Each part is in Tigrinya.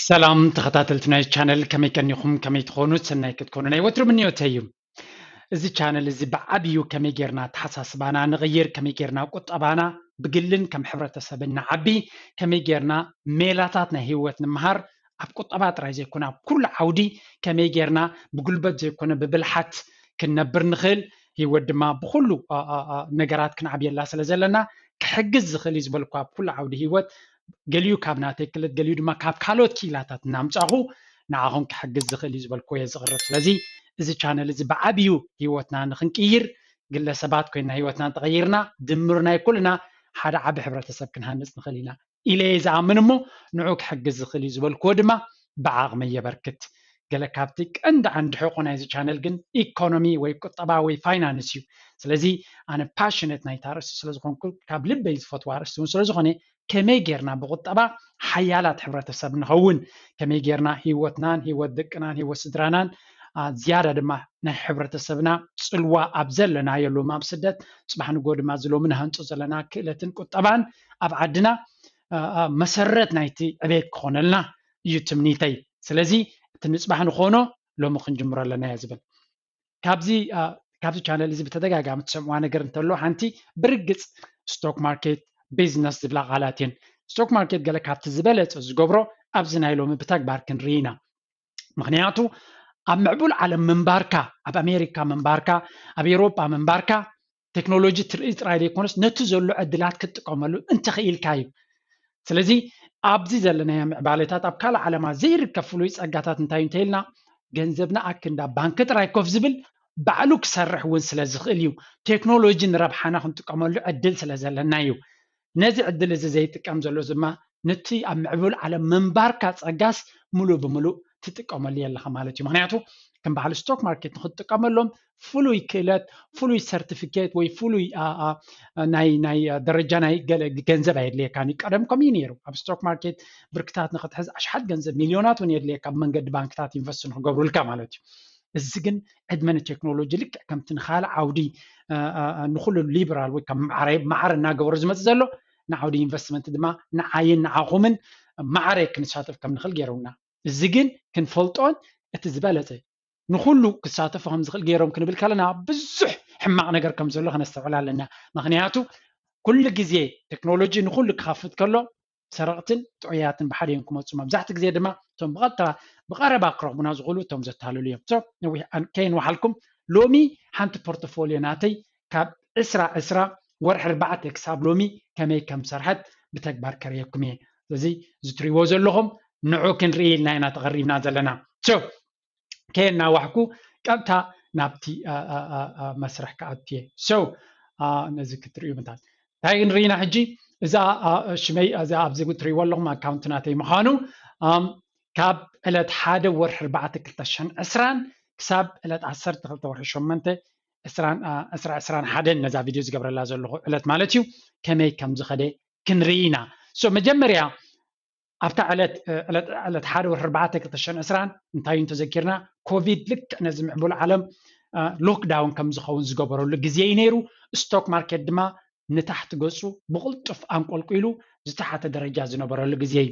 ሰላም ተኸታተልቲ ናይ ቻነል፣ ከመይ ቀኒኹም? ከመይ ትኾኑ? ሰናይ ክትኮኑ ናይ ወትሩ ምንዮተይ እዩ። እዚ ቻነል እዚ ብዓብዩ ከመይ ጌርና ኣተሓሳስባና ንቕይር፣ ከመይ ጌርና ቁጠባና ብግልን ከም ሕብረተሰብን ንዓቢ፣ ከመይ ጌርና ሜላታት ናይ ህይወት ንምሃር፣ ኣብ ቁጠባ ጥራይ ዘይኮነ ኣብ ኩሉ ዓውዲ ከመይ ጌርና ብጉልበት ዘይኮነ ብብልሓት ክንነብር ንኽእል፣ ህይወት ድማ ብኹሉ ነገራት ክንዓብየላ ስለ ዘለና ክሕግዝ ዝኽእል እዩ ዝበልኩ ኣብ ኩሉ ዓውዲ ህይወት፣ ገሊኡ ካብ ናተይ ክእለት፣ ገሊኡ ድማ ካብ ካልኦት ክኢላታት እናምጻኹ ንዓኹም ክሕግዝ ዝኽእል እዩ ዝበልኩዎ እየ ዝቕርብ። ስለዚ እዚ ቻነል እዚ ብዓብዩ ህይወትና ንኽንቅይር፣ ግለሰባት ኮይንና ህይወትና እንተቐይርና ድምር ናይ ኩልና ሓደ ዓቢ ሕብረተሰብ ክንሃንጽ ንኽእል ኢና ኢለ እየ ዝኣምን። እሞ ንዑ ክሕግዝ ዝኽእል እዩ ዝበልኩዎ ድማ ብዓቕመይ የበርክት። ገለ ካብቲ ቀንዲ ዓንዲ ሕቖ ናይዚ ቻነል ግን ኢኮኖሚ ወይ ቁጠባ ወይ ፋይናንስ እዩ። ስለዚ ኣነ ፓሽነት ናይታ ኣርእስቲ ስለ ዝኾንኩ ካብ ልበይ ዝፈትዋ ኣርእስቲ እውን ስለ ዝኾነ ከመይ ጌርና ብቁጠባ ሓያላት ሕብረተሰብ ንኸውን፣ ከመይ ጌርና ህይወትናን ህይወት ደቅናን ህይወት ስድራናን ዝያዳ ድማ ናይ ሕብረተሰብና ጽልዋ ኣብ ዘለናዮ ሎም ኣብ ስደት ጽባሕ ንጎ ድማ ዝሎሚ ንሃንጾ ዘለና ክእለትን ቁጠባን ኣብ ዓድና መሰረት ናይቲ ዕቤት ክኾነልና እዩ ትምኒተይ። ስለዚ እቲ ንጽባሕ ንኾኖ ሎሚ ክንጅምሮ ኣለና እየ ዝብል። ካብዚ ካብዚ ቻነል እዚ ብተደጋጋሚ ትሰምዕዋ ነገር እንተሎ ሓንቲ ብርግጽ ስቶክ ማርኬት ቢዝነስ ዝብላ ቃላት እየን። ስቶክ ማርኬት ገለ ካብቲ ዝበለጸ ዝገብሮ ኣብዚ ናይ ሎሚ ብተግባር ክንርኢ ኢና። ምኽንያቱ ኣብ ምዕቡል ዓለም ምንባርካ፣ ኣብ ኣሜሪካ ምንባርካ፣ ኣብ ኤውሮጳ ምንባርካ ቴክኖሎጂ ትርኢ ጥራይ ዘይኮነስ ነቲ ዘሎ ዕድላት ክትጥቀመሉ እንተኽኢልካ እዩ። ስለዚ ኣብዚ ዘለናዮ ምዕባለታት ኣብ ካልእ ዓለማት ዘይርከብ ፍሉይ ጸጋታት እንታይ እዩ እንተኢልና ገንዘብና ኣክንዳ ባንኪ ጥራይ ኮፍ ዝብል ባዕሉ ክሰርሕ እውን ስለ ዝኽእል እዩ። ቴክኖሎጂ ንረብሓና ክንጥቀመሉ ዕድል ስለ ዘለና እዩ። ነዚ ዕድል እዚ ዘይጥቀም ዘሎ ድማ ነቲ ኣብ ምዕቡል ዓለም ምንባርካ ጸጋስ ሙሉእ ብምሉእ ትጥቀመሉ የለኻ ማለት እዩ። ምኽንያቱ ከም በዓል ስቶክ ማርኬት ንክትጥቀመሎም ፍሉይ ክእለት፣ ፍሉይ ሰርቲፊኬት ወይ ፍሉይ ናይ ናይ ደረጃ ናይ ገለ ገንዘብ ኣየድልየካን እዩ። ቀደም ከምኡ እዩ ነይሩ። ኣብ ስቶክ ማርኬት ብርክታት ንክትሕዝ ኣሽሓት ገንዘብ ሚልዮናት እውን የድልየካ ብመንገዲ ባንክታት ኢንቨስት ንክገብሩልካ ማለት እዩ። እዚ ግን ዕድመ ንቴክኖሎጂ ልክዕ ከምቲ ንካልእ ዓውዲ ንኩሉ ሊበራል ወይ ከም ማዕረ እናገበሩ ዝመፅእ ዘሎ ንዓውዲ ኢንቨስትመንት ድማ ንዓይን ንዓኹምን ማዕረ ክንሳተፍ ከም ንኽእል ገይሮምና። እዚ ግን ክንፈልጦን እቲ ዝበለፀ ንኩሉ ክሳተፉ ከም ዝኽእል ገይሮም ክንብል ከለና ብዙሕ ሕማቕ ነገር ከም ዘሎ ከነስተውዕል ኣለና። ምኽንያቱ ኩሉ ግዜ ቴክኖሎጂ ንኩሉ ክኸፍት ከሎ ሰረቕትን ጥዑያትን ብሓደ እዮም ክመፁ። መብዛሕትኡ ግዜ ድማ እቶም ብቐጥታ ብቐረባ ክረኽቡና ዝኽእሉ እቶም ዘታልሉ እዮም። So ነዊሕ ከይንወሓልኩም ሎሚ ሓንቲ ፖርቶፎሊዮ ናተይ ካብ ዕስራ ዕስራ ወርሒ ኣርባዕተ ክሳብ ሎሚ ከመይ ከም ዝሰርሐት ብተግባር ከርእየኩም እየ። ስለዚ እዚ ትሪእዎ ዘለኹም ንዑ ክንርኢ ኢልና ኢና ተቐሪብና ዘለና። So ከየናዋሕኩ ቀጥታ ናብቲ መስርሕ ክኣቱ እየ። So ነዚ ክትርእዩ ምንታት እንታይ ክንርኢና ሕጂ? እዛ ሽመይ እዛ ኣብዚ ትሪእዎ ኣለኹም ኣካውንት ናተይ ምዃኑ ካብ ዕለት ሓደ ወርሒ ኣርባዕተ ክልተ ሽሕን ዕስራን ክሳብ ዕለት ዓሰርተ ክልተ ወርሒ ሸሞንተ ዕስራ ዕስራን ሓደን ነዛ ቪድዮ ዝገብረላ ዘለኹ ዕለት ማለት እዩ ከመይ ከም ዝኸደ ክንርኢ ኢና። So መጀመርያ ኣብታ ዕለት ዕለት ሓደ ወርሒ ኣርባዕተ ክልተ ሽሕን ዕስራን እንታይ እዩ እንተዘኪርና ኮቪድ ልክዕ ነዚ ምዕቡል ዓለም ሎክዳውን ከም ዝኸውን ዝገበረሉ ግዜ እዩ ነይሩ። ስቶክ ማርኬት ድማ ንታሕቲ ገጹ ብቕልጡፍ ኣንቆልቂሉ ዝተሓተ ደረጃ ዝነበረሉ ግዜ እዩ።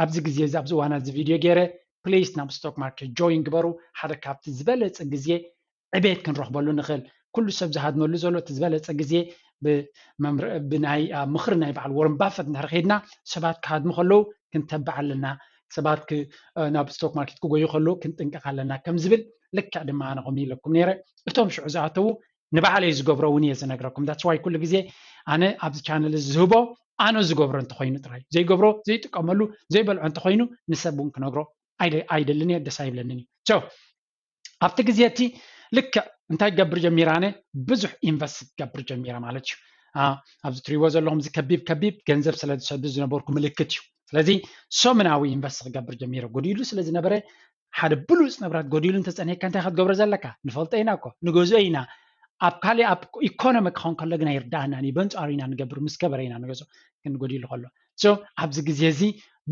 ኣብዚ ግዜ እዚ ኣብዚ እዋን እዚ ቪድዮ ገይረ ፕሊስ ናብ ስቶክ ማርኬት ጆይን ግበሩ። ሓደ ካብቲ ዝበለጸ ግዜ ዕቤት ክንረኽበሉ ንኽእል። ኩሉ ሰብ ዝሃድመሉ ዘሎ እቲ ዝበለጸ ግዜ ብናይ ምኽሪ ናይ በዓል ወረን ባፈት እንድሕር ከይድና ሰባት ክሃድሙ ከለዉ ክንተብዕ ኣለና። ሰባት ናብ ስቶክ ማርኬት ክጎዩ ከለዉ ክንጥንቀቕ ኣለና ከም ዝብል ልክዕ ድማ ኣነ ከምኡ ኢለኩም ነይረ። እቶም ሽዑ ዝኣተዉ ንባዕለይ ዝገብሮ እውን እየ ዝነግረኩም። That's why ኩሉ ግዜ ኣነ ኣብዚ ቻነል እዚ ዝህቦ ኣነ ዝገብሮ እንተኾይኑ ጥራይ፣ ዘይገብሮ ዘይጥቀመሉ ዘይበልዖ እንተኾይኑ ንሰብ እውን ክነግሮ ኣይደልን እየ፣ ደስ ኣይብለንን እዩ። So ኣብቲ ግዜ እቲ ልክዕ እንታይ ክገብር ጀሚረ ኣነ ብዙሕ ኢንቨስት ክገብር ጀሚረ ማለት እዩ። ኣብዚ ትሪእዎ ዘለኹም እዚ ከቢብ ከቢብ ገንዘብ ስለ ዝሰዱ ዝነበርኩ ምልክት እዩ። ስለዚ ሰሙናዊ ኢንቨስት ክገብር ጀሚረ ጎዲሉ ስለ ዝነበረ ሓደ ብሉፅ ንብረት ጎዲሉ እንተፀኒሕካ እንታይ ክትገብሮ ዘለካ ንፈልጦ ኢና እኮ ንገዝኦ ኢና። ኣብ ካሊእ ኣብ ኢኮኖሚ ክኸውን ከሎ ግን ኣይርዳእናን እዩ። በንፃሩ ኢና ንገብር ምስ ከበረ ኢና ንገዝኦ ግን ጎዲሉ ከሎ። So ኣብዚ ግዜ እዚ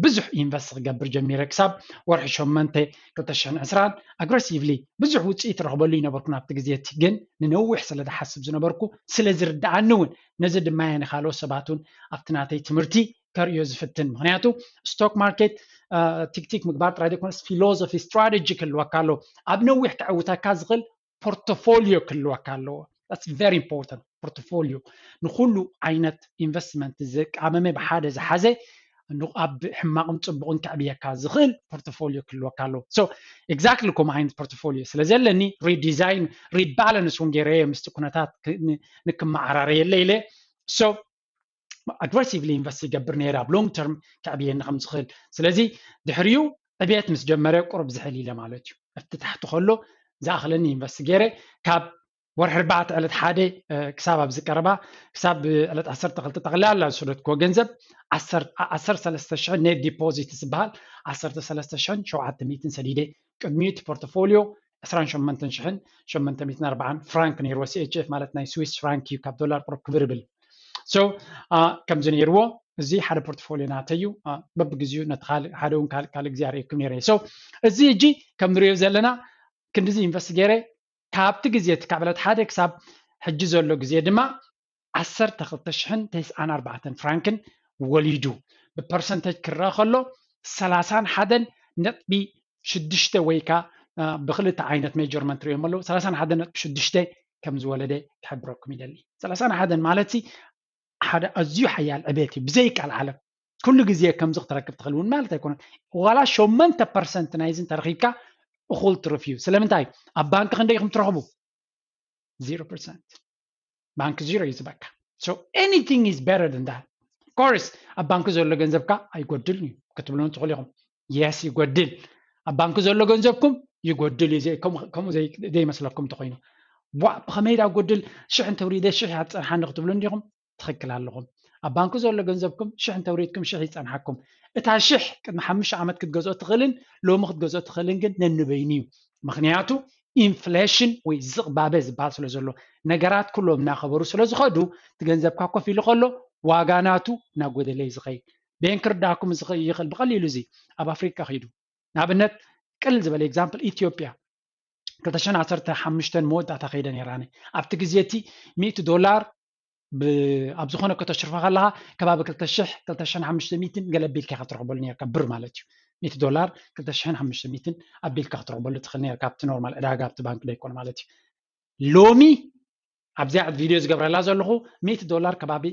ብዙሕ ኢንቨስት ክገብር ጀሚረ ክሳብ ወርሒ ሸሞንተ ክልተ ሽሕን ዕስራን ኣግረሲቭሊ ብዙሕ ውፅኢት ረኽበሉ ይነበርኩ ናብቲ ግዜ እቲ ግን ንነዊሕ ስለ ዝሓስብ ዝነበርኩ ስለ ዝርዳኣኒ እውን ነዚ ድማ እየ ንካልኦት ሰባት እውን ኣብቲ ናተይ ትምህርቲ ከርእዮ ዝፍትን። ምክንያቱ stock market ቲክቲክ ምግባር ጥራይ ዘይኮነስ philosophy፣ strategy ክህልወካ ኣለዎ። ኣብ ነዊሕ ከዕውተካ ዝኽእል ፖርቶፎሊዮ ክህልወካ ኣለዎ። That's very important። ፖርቶፎሊዮ ንኩሉ ዓይነት ኢንቨስትመንት ዘቃመመ፣ ብሓደ ዝሓዘ፣ ኣብ ሕማቕን ፅቡቕን ከዕብየካ ዝኽእል ፖርቶፎሊዮ ክህልወካ ኣለዎ። So exactly ከምኡ ዓይነት ፖርቶፎሊዮ ስለ ዘለኒ፣ ሪዲዛይን፣ ሪባላንስ እውን ገይረየ ምስቲ ኩነታት ንክመዓራረየለ ኢለ። So ኣግረሲቭሊ ኢንቨስት ይገብር ነይረ ኣብ ሎንግ ተርም ከዕብየኒ ከም ዝኽእል። ስለዚ ድሕሪኡ ዕብየት ምስ ጀመረ ቁሩብ ዝሕል ኢለ ማለት እዩ። ኣብቲ ታሕቲ ከሎ ዝኣኽለኒ ኢንቨስት ገይረ ካብ ወርሒ ኣርባዕተ ዕለት ሓደ ክሳብ ኣብዚ ቀረባ ክሳብ ዕለት ዓሰርተ ክልተ ጠቕላላ ዝሰደድክዎ ገንዘብ ዓሰርተ ሰለስተ ሽሕ ኔት ዲፖዚት ዝበሃል ዓሰርተ ሰለስተ ሽሕን ሸውዓተ ሚእትን ሰዲደ። ቅድሚኡ እቲ ፖርትፎሊዮ ዕስራን ሸሞንተን ሽሕን ሸሞንተ ሚእትን ኣርባዓን ፍራንክ ነይርዎ። ሲ ኤች ኤፍ ማለት ናይ ስዊስ ፍራንክ እዩ፣ ካብ ዶላር ቁሩብ ክብር ይብል። So ከምዚ ነይርዎ፣ እዚ ሓደ ፖርትፎሊዮ ናተይ እዩ። በብግዚኡ ነቲ ካልእ ሓደ እውን ካልእ ካልእ ግዜ ኣርእየኩም ነይረ። So እዚ ሕጂ ከም ንሪኦ ዘለና ክንዲዚ ኢንቨስት ገይረ ካብቲ ግዜ እቲ ካብ ዕለት ሓደ ክሳብ ሕጂ ዘሎ ግዜ ድማ ዓሰርተ ክልተ ሽሕን ተስዓን ኣርባዕተን ፍራንክን ወሊዱ። ብፐርሰንተጅ ክረአ ከሎ ሰላሳን ሓደን ነጥቢ ሽዱሽተ ወይ ከዓ ብክልተ ዓይነት ሜጀርመንት ሪኦም ኣለዉ። ሰላሳን ሓደን ነጥቢ ሽዱሽተ ከም ዝወለደ ክሕብረኩም ይደሊ። ሰላሳን ሓደን ማለት ሓደ ኣዝዩ ሓያል ዕቤት እዩ። ብዘይ ቃል ዓለም ኩሉ ግዜ ከምዚ ክትረክብ ትኽእል እውን ማለት ኣይኮነን። ዋላ ሸሞንተ ፐርሰንት ናይዚ እንተረኺብካ እኹል ትርፍ እዩ። ስለምንታይ? ኣብ ባንክ ክንደይ ኢኹም ትረኽቡ? ዜሮ ፐርሰንት። ባንክ ዜሮ እዩ ዝበካ። So anything is better than that. Of course ኣብ ባንክ ዘሎ ገንዘብካ ኣይጎድልን እዩ ክትብሉን ትኽእሉ ኢኹም። የስ ይጎድል። ኣብ ባንክ ዘሎ ገንዘብኩም ይጎድል እዩ። ከምኡ ዘይመስለኩም እንተኮይኑ፣ ዋ ብኸመይ ዳ ጎድል፣ ሽሕ እንተውሪደ ሽሕ እያ ትፀንሓኒ ክትብሉ እንዲኹም? ትኽክል ኣለኹም። ኣብ ባንክ ዘሎ ገንዘብኩም ሽሕ እንተውሪድኩም ሽሕ ይፀንሓኩም። እታ ሽሕ ቅድሚ ሓሙሽተ ዓመት ክትገዝኦ ትኽእልን ሎሚ ክትገዝኦ ትኽእልን ግን ነንበይኑ እዩ። ምክንያቱ ኢንፍሌሽን ወይ ዝቕባበ ዝበሃል ስለ ዘሎ፣ ነገራት ኩሎም እናኸበሩ ስለ ዝኸዱ፣ እቲ ገንዘብካ ኮፍ ኢሉ ከሎ ዋጋ ናቱ እናጎደለ እዩ ዝኸይድ። ቤን ክርዳኩም ይኽእል ብቐሊሉ፣ እዚ ኣብ ኣፍሪቃ ኺዱ ንኣብነት ቅል ዝበለ ኤግዛምፕል ኢትዮጵያ ክልተ ሽሕን ዓሰርተ ሓሙሽተን መወዳእታ ከይደ ነይራኒ። ኣብቲ ግዜ እቲ ሚእቲ ዶላር ኣብ ዝኾነ ከተሽርፎ ከለኻ ከባቢ ክልተ ሽሕ ክልተ ሽሕን ሓሙሽተ ሚእትን ገለ ኣቢልካ ኢኻ ትረኽበሉ ነርካ፣ ብር ማለት እዩ። ሚእቲ ዶላር ክልተ ሽሕን ሓሙሽተ ሚእትን ኣቢልካ ክትረኽበሉ ትኽእል ነርካ ኣብቲ ኖርማል ዕዳጋ ኣብቲ ባንክ ዘይኮነ ማለት እዩ። ሎሚ ኣብዚኣ ቪድዮ ዝገብረላ ዘለኹ ሚእቲ ዶላር ከባቢ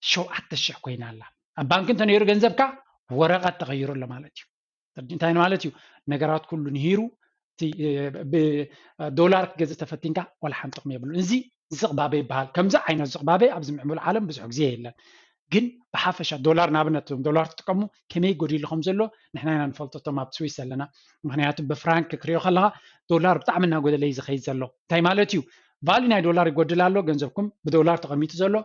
ሸውዓተ ሽሕ ኮይና ኣላ። ኣብ ባንክ እንተነይሩ ገንዘብካ ወረቐት ተቐይሩ ኣሎ ማለት እዩ። እንታይ ማለት እዩ? ነገራት ኩሉ ንሂሩ ዶላር ክትገዝእ ተፈቲንካ ዋላ ሓንቲ ጥቕሚ የብሉን። እዚ ዝቕባበ ይበሃል። ከምዚ ዓይነት ዝቕባበ ኣብዚ ምዕቡል ዓለም ብዙሕ ግዜ የለን። ግን ብሓፈሻ ዶላር ንኣብነት እዞም ዶላር ትጥቀሙ ከመይ ጎዲሉ ከም ዘሎ ንሕና ኢና ንፈልጦ እቶም ኣብ ስዊስ ዘለና። ምክንያቱ ብፍራንክ ክሪኦ ከለካ ዶላር ብጣዕሚ እናጎደለ እዩ ዝኸይድ ዘሎ። እንታይ ማለት እዩ? ቫልዩ ናይ ዶላር ይጎድል ኣሎ፣ ገንዘብኩም ብዶላር ተቐሚጡ ዘሎ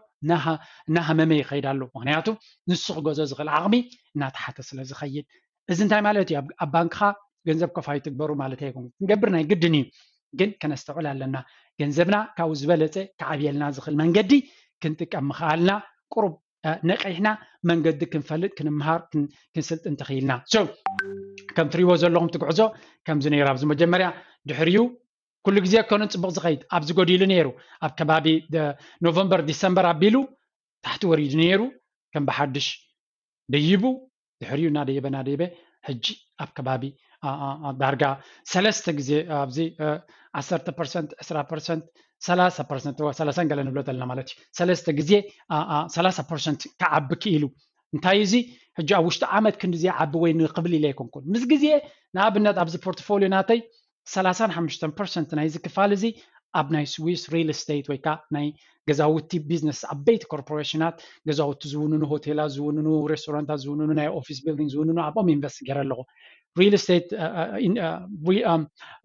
እናሃመመ ይኸይድ ኣሎ። ምክንያቱ ንሱ ክገዞ ዝኽእል ዓቕሚ እናተሓተ ስለ ዝኸይድ። እዚ እንታይ ማለት እዩ? ኣብ ባንክኻ ገንዘብ ከፋይ ትግበሩ ማለት ኣይኮን፣ ክንገብር ናይ ግድን እዩ። ግን ከነስተውዕል ኣለና። ገንዘብና ካብኡ ዝበለፀ ክዓብየልና ዝኽእል መንገዲ ክንጥቀም ምኽኣልና ቁሩብ ነቂሕና መንገዲ ክንፈልጥ ክንምሃር ክንስልጥን ተኽኢልና። So ከም ትሪእዎ ዘለኹም ትጉዕዞ ከምዚ ነይሩ። ኣብዚ መጀመርያ ድሕሪኡ ኩሉ ግዜ ኣይኮነን ፅቡቕ ዝኸይድ፣ ኣብዚ ጎዲሉ ነይሩ። ኣብ ከባቢ ኖቨምበር ዲሰምበር ኣቢሉ ታሕቲ ወሪዱ ነይሩ፣ ከም ብሓድሽ ደይቡ ድሕሪኡ እናደየበ እናደየበ ሕጂ ኣብ ከባቢ ዳርጋ ሰለስተ ግዜ ኣብዚ ዓሰርተ ፐርሰንት፣ ዕስራ ፐርሰንት፣ ሰላሳ ፐርሰንት፣ ሰላሳን ገለ ንብሎ ዘለና ማለት እዩ። ሰለስተ ግዜ ሰላሳ ፐርሰንት ክዓቢ ክኢሉ። እንታይ እዚ ሕጂ ኣብ ውሽጢ ዓመት ክንድዚ ዓቢ ወይ ንክብል ኢለ ኣይኮንኩን። ምስ ግዜ ንኣብነት ኣብዚ ፖርትፎሊዮ ናተይ ሰላሳን ሓሙሽተን ፐርሰንት ናይዚ ክፋል እዚ ኣብ ናይ ስዊስ ሪል ስቴት ወይ ከዓ ናይ ገዛውቲ ቢዝነስ ዓበይቲ ኮርፖሬሽናት ገዛውቲ ዝውንኑ፣ ሆቴላት ዝውንኑ፣ ሬስቶራንታት ዝውንኑ፣ ናይ ኦፊስ ቢልዲንግ ዝውንኑ ኣብኦም ኢንቨስት ገይረ ኣለኹ። ሪል ስቴት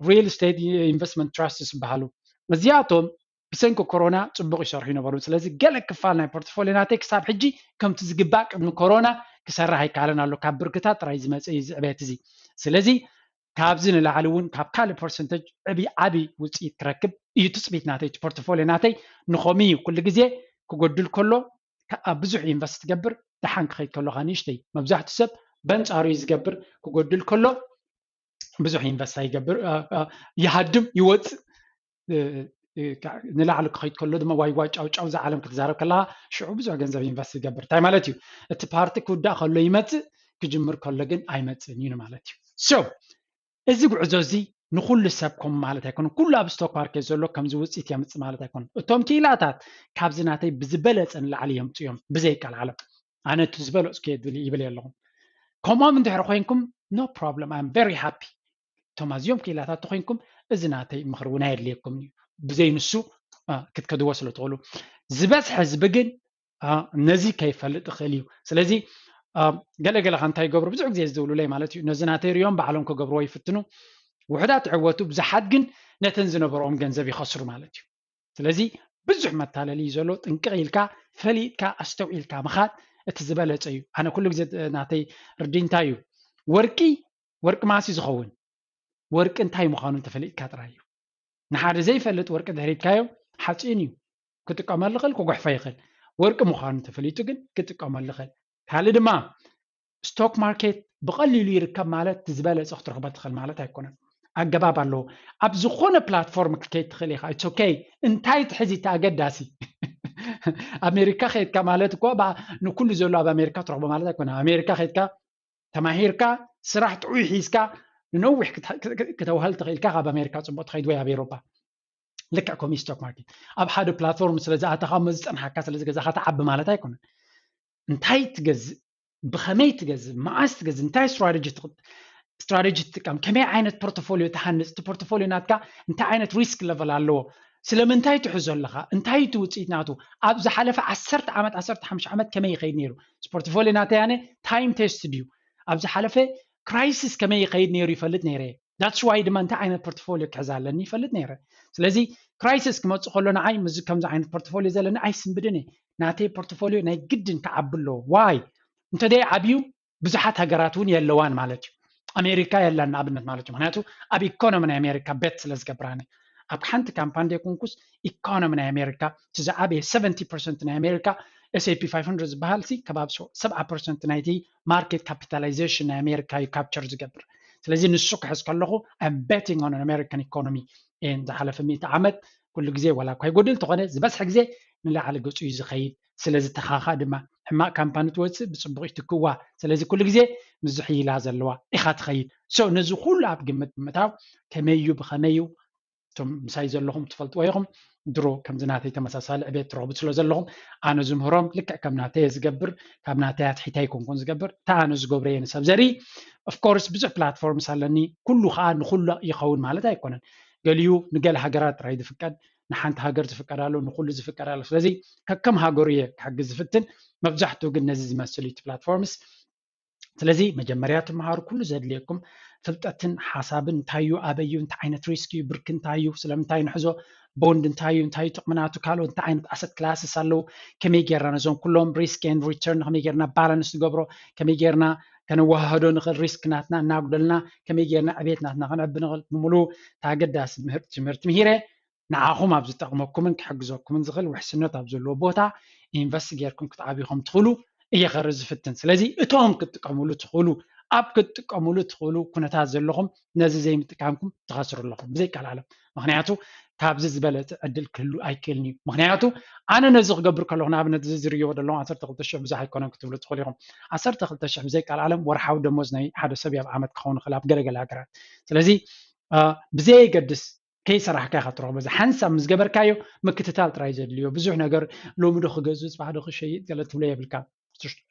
ሪል ስቴት ኢንቨስትመንት ትራስትስ ዝበሃሉ እዚኣቶም ብሰንኪ ኮሮና ፅቡቕ ይሰርሑ ይነበሩ። ስለዚ ገለ ክፋል ናይ ፖርትፎሊዮ ናተይ ክሳብ ሕጂ ከምቲ ዝግባእ ቅድሚ ኮሮና ክሰርሕ ኣይከኣለን ኣሎ። ካብ ብርክታት ጥራይ ዝመፀ እዩ እዚ ዕብየት እዚ። ስለዚ ካብዚ ንላዕሊ እውን ካብ ካልእ ፐርሰንተጅ ዕብይ ዓብይ ውፅኢት ክረክብ እዩ ትፅቢት ናተይ። እቲ ፖርትፎሊዮ ናተይ ንኸምኡ እዩ። ኩሉ ግዜ ክጎድል ከሎ ኣብ ብዙሕ ኢንቨስት ትገብር፣ ደሓን ክኸይድ ከሎ ከዓ ንእሽተይ። መብዛሕትኡ ሰብ በንፃሩ እዩ ዝገብር። ክጎድል ከሎ ብዙሕ ኢንቨስት ኣይገብር፣ ይሃድም ይወፅእ። ንላዕሊ ክኸይድ ከሎ ድማ ዋይ ዋይ ጫው ጫው እዛ ዓለም ክትዛረብ ከለካ ሽዑ ብዙሕ ገንዘብ ኢንቨስት ይገብር። እንታይ ማለት እዩ? እቲ ፓርቲ ክውዳእ ከሎ ይመፅእ፣ ክጅምር ከሎ ግን ኣይመፅእን እዩ ማለት እዩ። So እዚ ጉዕዞ እዚ ንኩሉ ሰብ ከም ማለት ኣይኮነን። ኩሉ ኣብ ስቶክ ማርኬት ዘሎ ከምዚ ውፅኢት የምፅእ ማለት ኣይኮነን። እቶም ክኢላታት ካብዚ ናተይ ብዝበለፀ ንላዕሊ የምፅኡ እዮም ብዘይ ቃል ዓለም። ኣነ እቲ ዝበለፅኩ እየ ዝብል ይብል ኣለኹም። ከምኦም እንድሕር ኮይንኩም no problem, I'm very happy። እቶም ኣዝዮም ክኢላታት ተኮይንኩም እዚ ናተይ ምክሪ እውን ኣየድልየኩም እዩ። ብዘይ ንሱ ክትከድዎ ስለ ትኽእሉ ዝበዝሐ ህዝቢ ግን ነዚ ከይፈልጥ ይኽእል እዩ። ስለዚ ገለገለ ከ እንታይ ይገብሩ? ብዙሕ ግዜ ዝብሉለይ ማለት እዩ፣ ነዚ ናተይ ሪኦም ባዕሎም ክገብርዎ ይፍትኑ። ውሕዳት ይዕወቱ፣ ብዙሓት ግን ነተን ዝነበርኦም ገንዘብ ይኸስሩ ማለት እዩ። ስለዚ ብዙሕ መታለሊ እዩ ዘሎ። ጥንቅቕ ኢልካ ፈሊጥካ ኣስተውዒልካ ምኻድ እቲ ዝበለፀ እዩ። ኣነ ኩሉ ግዜ ናተይ ርዲ እንታይ እዩ፣ ወርቂ ወርቂ ማሲ ዝኸውን ወርቂ እንታይ ምዃኑ እንተፈሊጥካ ጥራይ እዩ። ንሓደ ዘይፈልጥ ወርቂ ድሕሪትካዮ ሓፂን እዩ፣ ክጥቀመሉ ይኽእል፣ ክጉሕፎ ይኽእል። ወርቂ ምዃኑ ተፈሊጡ ግን ክጥቀመሉ ይኽእል። ካልእ ድማ ስቶክ ማርኬት ብቐሊሉ ይርከብ ማለት ዝበለፀ ክትረኽቦ ትኽእል ማለት ኣይኮነን። ኣገባብ ኣለዎ። ኣብ ዝኾነ ፕላትፎርም ክትከይድ ትኽእል ኢኻ። It's okay። እንታይ ትሕዚ እቲ ኣገዳሲ ኣሜሪካ ከይድካ ማለት እኮ ንኩሉ ዘሎ ኣብ ኣሜሪካ ትረኽቦ ማለት ኣይኮነ። ኣሜሪካ ከይድካ ተማሂርካ ስራሕ ጥዑይ ሒዝካ ንነዊሕ ክተውህል ትኽእልካ ካብ ኣሜሪካ ፅቡቅ ትኸይድ ወይ ኣብ ኤሮፓ። ልክዕ ከምኡ ስቶክ ማርኬት ኣብ ሓደ ፕላትፎርም ስለ ዝኣተኻ እሞ ዝፀንሓካ ስለ ዝገዛኻ ትዓቢ ማለት ኣይኮነን። እንታይ ትገዝእ፣ ብኸመይ ትገዝእ፣ መዓስ ትገዝእ፣ እንታይ ስትራቴጂ ስትራቴጂ ትጥቀም፣ ከመይ ዓይነት ፖርትፎሊዮ ትሃንፅ፣ እቲ ፖርትፎሊዮ ናትካ እንታይ ዓይነት ሪስክ ለቨል ኣለዎ፣ ስለምንታይ ትሕዞ ኣለኻ፣ እንታይ እቲ ውፅኢት ናቱ፣ ኣብ ዝሓለፈ ዓሰርተ ዓመት ዓሰርተ ሓሙሽተ ዓመት ከመይ ይኸይድ ነይሩ፣ ፖርትፎሊዮ ናተይ ኣነ ታይም ቴስት ድዩ፣ ኣብ ዝሓለፈ ክራይሲስ ከመይ ይኸይድ ነይሩ ይፈልጥ ነይረ። That's why ድማ እንታይ ዓይነት ፖርትፎሊዮ ክሕዝ ኣለኒ ይፈልጥ ነይረ። ስለዚ ክራይሲስ ክመፅእ ከሎ ንዓይ ምዚ ከምዚ ዓይነት ፖርትፎሊዮ ዘለኒ ኣይስንብድን እየ። ናተይ ፖርትፎሊዮ ናይ ግድን ክዓቢ ኣለዎ። ዋይ እንተደይ ዓብዩ ብዙሓት ሃገራት እውን የለዋን ማለት እዩ። ኣሜሪካ የላን ንኣብነት ማለት እዩ። ምክንያቱ ኣብ ኢኮኖሚ ናይ ኣሜሪካ ቤት ስለ ዝገብራኒ ኣብ ሓንቲ ካምፓኒ ዘይኮንኩስ ኢኮኖሚ ናይ ኣሜሪካ እቲ ዝዓበየ ሰቨንቲ ፐርሰንት ናይ ኣሜሪካ S and P five hundred ዝበሃል ሲ ከባቢ ሰብዓ ፐርሰንት ናይቲ ማርኬት ካፒታላይዜሽን ናይ ኣሜሪካ እዩ ካፕቸር ዝገብር። ስለዚ ንሱ ክሕዝ ከለኹ I'm betting on American economy። ዝሓለፈ ሚእቲ ዓመት ኩሉ ግዜ ዋላ እኳ ይጎድል እንተኾነ ዝበዝሐ ግዜ ንላዕሊ ገፁ እዩ ዝኸይድ። ስለዚ ተኻኻ ድማ ሕማቕ ካምፓኒ ትወፅእ ብፅቡቕ ይትክዋ። ስለዚ ኩሉ ግዜ ምዝሕይላ ዘለዋ ኢኻ ትኸይድ። So ነዚ ኩሉ ኣብ ግምት ብምእታው ከመይ እዩ ብኸመይ እዩ እቶም ምሳይ ዘለኹም ትፈልጥዎ ኢኹም። ድሮ ከምዚ ናተይ ተመሳሳሊ ዕቤት ትረኽቡ ስለ ዘለኹም ኣነ ዝምህሮም ልክዕ ከም ናተይ እየ ዝገብር። ካብ ናተይ ኣትሒተ ኣይኮንኩን ዝገብር። እታ ኣነ ዝገብሮ እየ ንሰብ ዘርኢ። Of course ብዙሕ ፕላትፎርምስ ኣለኒ። ኩሉ ከዓ ንኩሉ ይኸውን ማለት ኣይኮነን። ገሊኡ ንገለ ሃገራት ጥራይ ዝፍቀድ፣ ንሓንቲ ሃገር ዝፍቀድ ኣሎ፣ ንኩሉ ዝፍቀድ ኣሎ። ስለዚ ከከም ሃገሩ እየ ክሕግዝ ዝፍትን። መብዛሕትኡ ግን ነዚ ዝመስል እዩ እቲ ፕላትፎርምስ። ስለዚ መጀመርያ ትምሃሩ ኩሉ ዘድልየኩም ፍልጠትን ሓሳብን እንታይ እዩ፣ ኣበይ እዩ፣ እንታይ ዓይነት ሪስክ እዩ፣ ብርክ እንታይ እዩ፣ ስለምንታይ ንሕዞ፣ ቦንድ እንታይ እዩ፣ እንታይ እዩ ጥቕሚ ናቱ፣ ካልኦት እንታይ ዓይነት ኣሰት ክላስስ ኣለዉ፣ ከመይ ጌርና ነዞም ኩሎም ሪስክ ኤንድ ሪተርን ከመይ ጌርና ባላንስ ንገብሮ፣ ከመይ ጌርና ከነወሃህዶ ንኽእል፣ ሪስክ ናትና እናጉደልና ከመይ ጌርና ዕቤት ናትና ከነዕቢ ንኽእል፣ ብምሉ ኣገዳሲ ምህር- ትምህርቲ ምሂረ። ንዓኹም ኣብ ዝጠቕመኩምን ክሕግዘኩምን ዝኽእል ውሕስነት ኣብ ዘለዎ ቦታ ኢንቨስት ጌርኩም ክትዓብዩ ከም ትኽእሉ እየ ከርኢ ዝፍትን። ስለዚ እቶም ክትጥቀምሉ ትኽእሉ፣ ኣብ ክትጥቀምሉ ትኽእሉ ኩነታት ዘለኹም ነዚ ዘይምጥቃምኩም ትኸስሩ ኣለኹም ብዘይ ቃል ዓለም። ምኽንያቱ ካብዚ ዝበለፀ ዕድል ክህሉ ኣይክእልን እዩ። ምኽንያቱ ኣነ ነዚ ክገብር ከለኹ ንኣብነት እዚ ዝርእይዎ ዘለኹም ዓሰርተ ክልተ ሽሕ ብዙሕ ኣይኮነን ክትብሉ ትኽእሉ ኢኹም። ዓሰርተ ክልተ ሽሕ ብዘይ ቃል ዓለም ወርሓዊ ደሞዝ ናይ ሓደ ሰብ ኣብ ዓመት ክኸውን ይኽእል ኣብ ገለገለ ሃገራት። ስለዚ ብዘየገድስ ከይሰራሕካ ኢኻ ትረኽቦ። እዚ ሓንሳብ ምስ ገበርካዮ ምክትታል ጥራይ ዘድልዮ። ብዙሕ ነገር ሎሚ ዶ ክገዝእ፣ ጽባሕ ዶ ክሸይጥ ገለ ትብሎ የብልካ።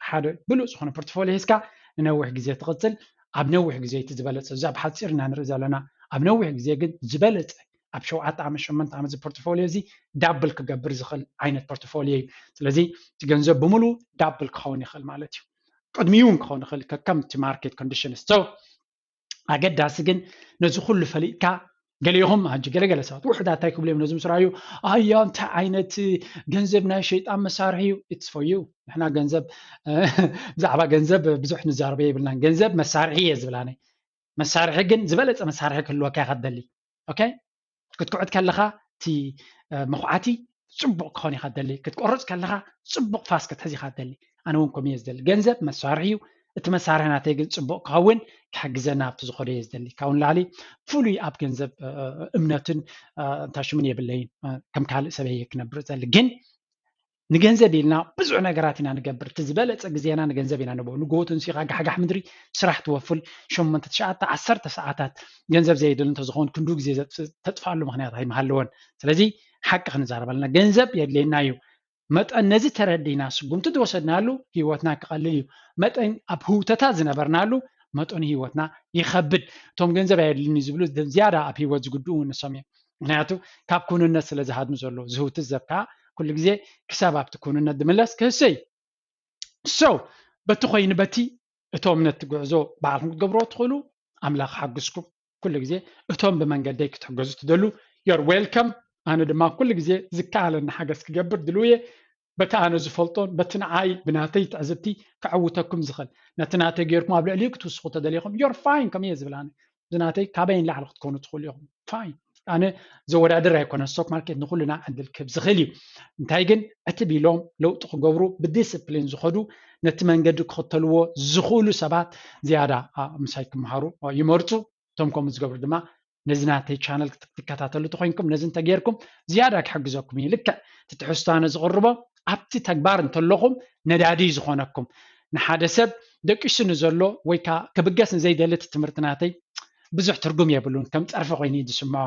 ሓደ ብሉጽ ዝኾነ ፖርትፎሊዮ ሒዝካ ንነዊሕ ግዜ ትቕጽል። ኣብ ነዊሕ ግዜ እቲ ዝበለጸ፣ እዚ ኣብ ሓጺር ኢና ንርኢ ዘለና። ኣብ ነዊሕ ግዜ ግን ዝበለጸ ኣብ ሸውዓተ ዓመት፣ ሸሞንተ ዓመት እዚ ፖርትፎሊዮ እዚ ዳብል ክገብር ዝኽእል ዓይነት ፖርትፎሊዮ እዩ። ስለዚ እቲ ገንዘብ ብምሉ ዳብል ክኸውን ይኽእል ማለት እዩ። ቅድሚኡ እውን ክኸውን ይኽእል ከከም እቲ ማርኬት ኮንዲሽንስ። ኣገዳሲ ግን ነዚ ኩሉ ፈሊጥካ ገሊኹም ሕጂ ገለገለ ሰባት ውሕዳት እንታይ ክብሉ እዮም ነዚ ምስ ረኣዩ ኣያ እንታይ ዓይነት ገንዘብ ናይ ሸይጣን መሳርሒ እዩ። It's for you። ንሕና ገንዘብ ብዛዕባ ገንዘብ ብዙሕ ንዛረበ የብልናን። ገንዘብ መሳርሒ እየ ዝብል ኣነ። መሳርሒ ግን ዝበለፀ መሳርሒ ክህልወካ ኢኻ ትደሊ። ኦኬ ክትኩዕት ከለኻ እቲ መኹዓቲ ፅቡቕ ክኾን ኢኻ ትደሊ። ክትቆርፅ ከለኻ ፅቡቕ ፋስ ክትሕዝ ኢኻ ትደሊ። ኣነ እውን ከምኡ እየ ዝደሊ። ገንዘብ መሳርሒ እዩ። እቲ መሳርሒ ናተይ ግን ፅቡቕ ክኸውን ክሕግዘና ኣብቲ ዝኾነ እየ ዝደሊ። ካብኡ ንላዕሊ ፍሉይ ኣብ ገንዘብ እምነትን እንታሽምን የብለይን። ከም ካልእ ሰብ እየ ክነብር ዘሊ። ግን ንገንዘብ ኢልና ብዙሕ ነገራት ኢና ንገብር። እቲ ዝበለፀ ግዜና ንገንዘብ ኢና ንቦ። ንጎቱ ንሲኻ ጋሕጋሕ ምድሪ ስራሕ ትወፍል ሸሞንተ ትሽዓተ ዓሰርተ ሰዓታት ገንዘብ ዘየድል እንተዝኸውን ክንዱ ግዜ ተጥፋሉ ምክንያት ኣይምሃለወን። ስለዚ ሓቂ ክንዛረበልና ገንዘብ የድልየና እዩ። መጠን ነዚ ተረዲና ስጉምቲ ዝወሰድናሉ ህይወትና ክቐልል እዩ። መጠን ኣብ ህውተታት ዝነበርናሉ መጠኑ ህይወትና ይኸብድ። እቶም ገንዘብ ኣየድልኒ ዝብሉ ዝያዳ ኣብ ህይወት ዝጉድኡ ንሶም እዮም። ምክንያቱ ካብ ኩንነት ስለ ዝሃድሙ ዘሎ ዝህውትት ዘብካ ኩሉ ግዜ ክሳብ ኣብቲ ኩንነት ዝምለስ ክህሰ እዩ። So በቲ ኮይኑ በቲ እቶም ነቲ ጉዕዞ ባዕልኩም ክትገብርዎ ትኽእሉ ኣምላኽ ሓግዝኩም። ኩሉ ግዜ እቶም ብመንገደይ ክትሕገዙ ትደሉ you're welcome። ኣነ ድማ ኩሉ ግዜ ዝከኣለኒ ሓገዝ ክገብር ድልው እየ። በቲ ኣነ ዝፈልጦን በቲ ንዓይ ብናተይ ትዕዝብቲ ከዕውተኩም ዝኽእል ነቲ ናተይ ገይርኩም ኣብ ልዕሊኡ ክትውስኹ ተደሊኹም you're fine ከም እየ ዝብል ኣነ። ብናተይ ካበይ ንላዕሊ ክትኮኑ ትኽእሉ ኢኹም። Fine። ኣነ ዘወዳድር ኣይኮነ። ስቶክ ማርኬት ንኩልና ዕድል ክህብ ዝኽእል እዩ። እንታይ ግን ዕትብ ኢሎም ለውጢ ክገብሩ ብዲስፕሊን ዝኸዱ ነቲ መንገዲ ክኽተልዎ ዝኽእሉ ሰባት ዝያዳ ምሳይ ክመሃሩ ይመርፁ። እቶም ከምኡ ዝገብሩ ድማ ነዚ ናተይ ቻነል ክትከታተሉ ተኮይንኩም ነዚ እንተገይርኩም ዝያዳ ክሕግዘኩም እዩ። ልክዕ እቲ ትሕዝቶ ኣነ ዝቕርቦ ኣብቲ ተግባር እንተለኹም ነዳዲ እዩ ዝኾነኩም። ንሓደ ሰብ ደቂሱ ንዘሎ ወይ ከዓ ክብገስ ንዘይደሊ እቲ ትምህርቲ ናተይ ብዙሕ ትርጉም የብሉን። ከም ፀርፊ ኮይኑ እዩ ዝስምዖ።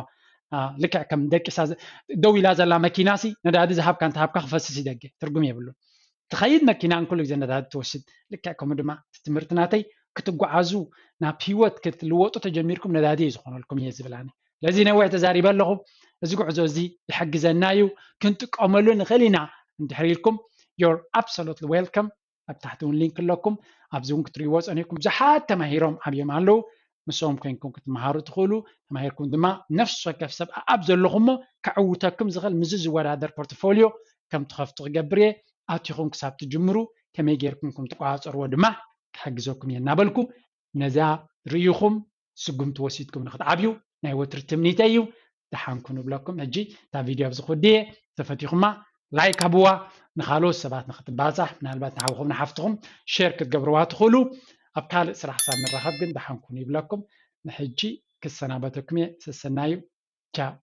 ልክዕ ከም ደቂሳ ደው ኢላ ዘላ መኪና ሲ ነዳዲ ዝሃብካ እንተሃብካ ክፈስስ ይደገ ትርጉም የብሉን። ትኸይድ መኪና እንኩሉ ግዜ ነዳዲ ትወስድ። ልክዕ ከምኡ ድማ እቲ ትምህርቲ ናተይ ክትጓዓዙ ናብ ህይወት ክትልወጡ ተጀሚርኩም ነዳዲ እዩ ዝኾነልኩም እየ ዝብል ኣነ። ለዚ ነዊሕ ተዛሪበ ኣለኹ። እዚ ጉዕዞ እዚ ይሕግዘና እዩ፣ ክንጥቀመሉ ንኽእል ኢና እንድሕር ኢልኩም you're absolutely welcome። ኣብ ታሕቲ እውን ሊንክ ኣለኩም። ኣብዚ እውን ክትሪእዎ ፀኒሕኩም ብዙሓት ተማሂሮም ኣብዮም ኣለዉ። ምስኦም ኮይንኩም ክትመሃሩ ትኽእሉ። ተማሂርኩም ድማ ነፍሲ ወከፍ ሰብ ኣብ ዘለኹሞ ከዕውተኩም ዝኽእል ምስዚ ዝወዳደር ፖርትፎሊዮ ከም ትኸፍቱ ክገብር እየ። ኣቲኹም ክሳብ ትጅምሩ ከመይ ጌርኩም ከም ትቆፃፀርዎ ድማ ክሕግዘኩም እየ እናበልኩ ነዛ ርእይኹም ስጉምቲ ወሲድኩም ንክትዓብዩ ናይ ወትሪ ትምኒተይ እዩ። ደሓንኩ ንብለኩም። ሕጂ እታ ቪድዮ ኣብዚ ክውድየ ተፈቲኹማ ላይክ ሃብዋ ንካልኦት ሰባት ንክትባፃሕ ምናልባት ንሓውኹም ንሓፍትኹም ሼር ክትገብርዋ ትኽእሉ። ኣብ ካልእ ስራሕ ሳብ ንራኸብ ግን ደሓንኩ ንብለኩም። ንሕጂ ክሰናበተኩም እየ። ሰሰናዩ። ቻው።